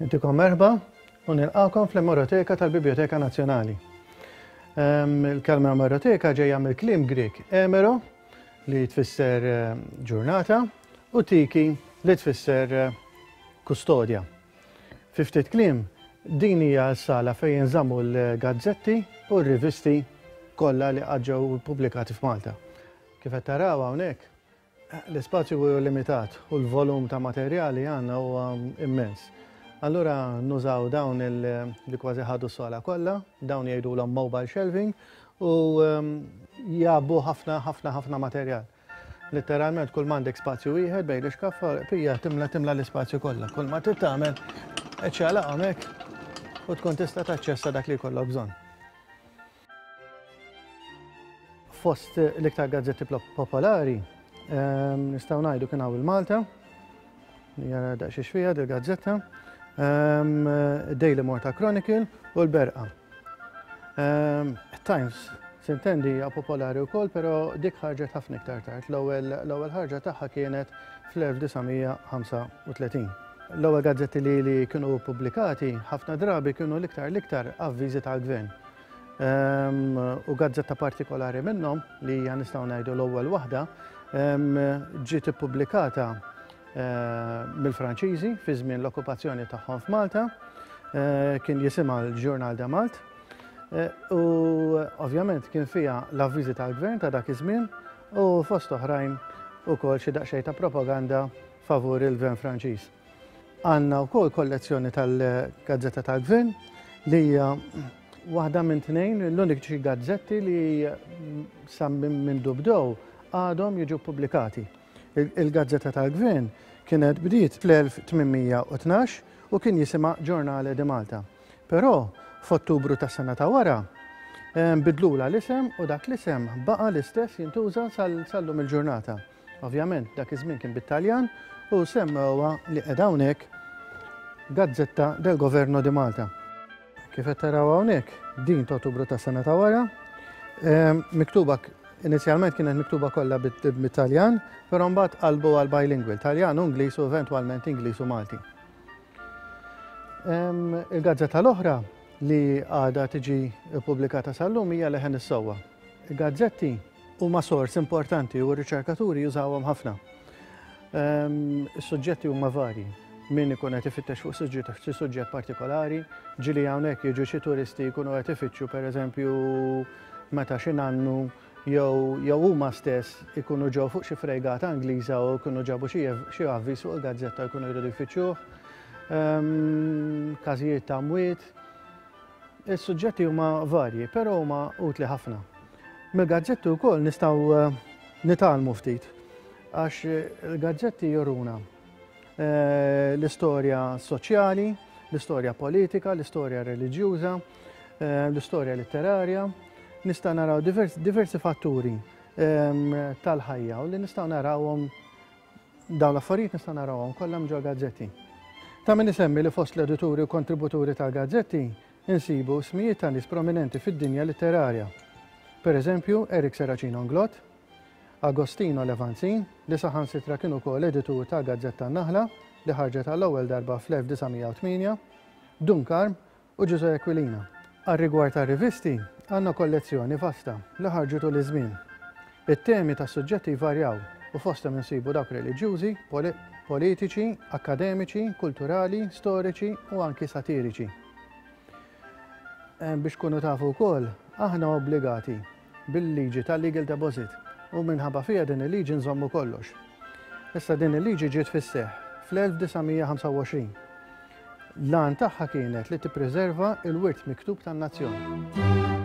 Intikom merħba u nilqakom fl-Emeroteka tal-Biblioteka Nazzjonali. Ehm, il-kelma emeroteka ġejja mill-kliem Grek emero li tfisser eh, ġurnata u tiki li tfisser eh, kustodja. Fi ftit kliem, din hija s-sala fejn jinżammu l-gazzetti u r-rivisti kollha li qatt ġew ippubblikati f'Malta. Kif qed taraw hawnhekk, l-ispazju huwa limitat u l-volum ta' materjal li għandna huwa immens. Allura nużaw dawn li kważi ħadu s-sala kollha, dawn jgħidulhom mobile shelving u jgħabbu ħafna ħafna ħafna materjal. Litteralment kull m'għandek spazju wieħed bejn l-ixkaffa pija timla timla l-ispazju kollha. Kull ma trid tagħmel iċċaqlaqhom hekk u tkun tista' taċċessa dak li jkollok bżonn. Fost l-iktar gazzetti popolari ehm, nistgħu ngħidu kien hawn il-Malta, jara daqsxiex fiha dil-gazzetta, ehm, Daily Malta Chronicle u l-Berqa. Ehm, Times, sintendi hija popolari wkoll, però dik ħarġet ħafna iktar tard. L-ewwel ħarġa tagħha kienet fl-1935. L-ewwel gazzetti li, li kienu pubblikati ħafna drabi kienu l-iktar l-iktar avviżi tal-gvern. Ehm, u gazzetta partikolari minnhom li hija nistgħu ngħidu l-ewwel waħda ehm, ġiet ippubblikata eh, mill-Franċiżi fi żmien l-okkupazzjoni tagħhom f'Malta, eh, kien jisimha l-Ġurnal de Malt. Eh, u ovvjament kien fiha l-avviżi tal-gvern ta' dak iż-żmien u fost oħrajn ukoll xi daqsxejn ta' propaganda favur il-gvern Franċiż. Għandna wkoll kollezzjoni tal-Gazzetta tal-Gvern li hija waħda minn tnejn l-uniċi gazzetti li sa minn bdew għadhom jiġu pubblikati. Il-gazzetta tal-gvern kienet bdiet fl-1812 u kien jisimha Giornale di Malta. Però f'Ottubru tas-sena ta' wara bidlula l-isem u dak l-isem baqa' l-istess jintuża sal-lum il-ġurnata. Ovvjament dak iż-żmien kien bit-Taljan u semmewha li qiegħda hawnhekk Gazzetta del Governo di Malta. Kif qed taraw hawnhekk, din ta' Ottubru tas-sena ta' wara, ehm, miktuba inizjalment kienet miktuba kollha bit-Taljan, però mbagħad qalbu għal bilingual, Taljan u Ingliż u eventwalment Ingliż u Malti. Ehm, il-gazzetta l-oħra li għadha tiġi ppubblikata sal-lum hija Leħen is-Sewwa. Il-gazzetti huma sors importanti u r-riċerkaturi jużawhom ħafna. Ehm, is-suġġetti huma varji. Min ikun qed ifittex fuq suġġett xi suġġett partikolari, ġieli hawnhekk jiġu xi turisti jkunu qed ifittxu pereżempju meta xi nannu jew jew huma stess ikunu ġew fuq xi frejgata Ingliża u jkunu ġabu xi avviż fuq il-gazzetta jkunu jridu jfittxuh. Ehm, każijiet ta' mwiet. Is-suġġetti huma varji, però huma utli ħafna. Mill-gazzetti wkoll nistgħu eh, nitgħallmu ftit għax il-gazzetti juruna eh, l-istorja soċjali, l-istorja politika, l-istorja reliġjuża, eh, l-istorja letterarja. Nista' naraw diversi fatturi ehm, tal-ħajja u li nistgħu narawhom Dawn l-affarijiet nistgħu narawhom kollha minn ġol-gazzetti. Ta' min isemmi li fost l-edituri u kontributuri tal-gazzetti insibu ismijiet ta' nies prominenti fid-dinja litterarja. Per eżempju, Eric Serracino Inglott, Agostino Levanzin, li saħansitra kien ukoll editur tal-gazzetta N-Naħla li ħarġet għall-ewwel darba fl-1908, Dun Karm u Ġużè Aquilina. Għar-rigward tar-rivisti, għandna kollezzjoni vasta li ħarġu tul iż-żmien. It-temi tas-suġġetti jvarjaw u fosthom insibu dawk reliġjużi, politiċi, akkademiċi, kulturali, storiċi u anki satiriċi. Eh, biex tkunu tafu wkoll, aħna obbligati bil-liġi tal-legal deposit u minħabba fiha din il-liġi nżommu kollox. Issa din il-liġi ġiet fis-seħħ fl-1925. L-għan tagħha kienet li tippreserva l-wirt miktub tan-nazzjon.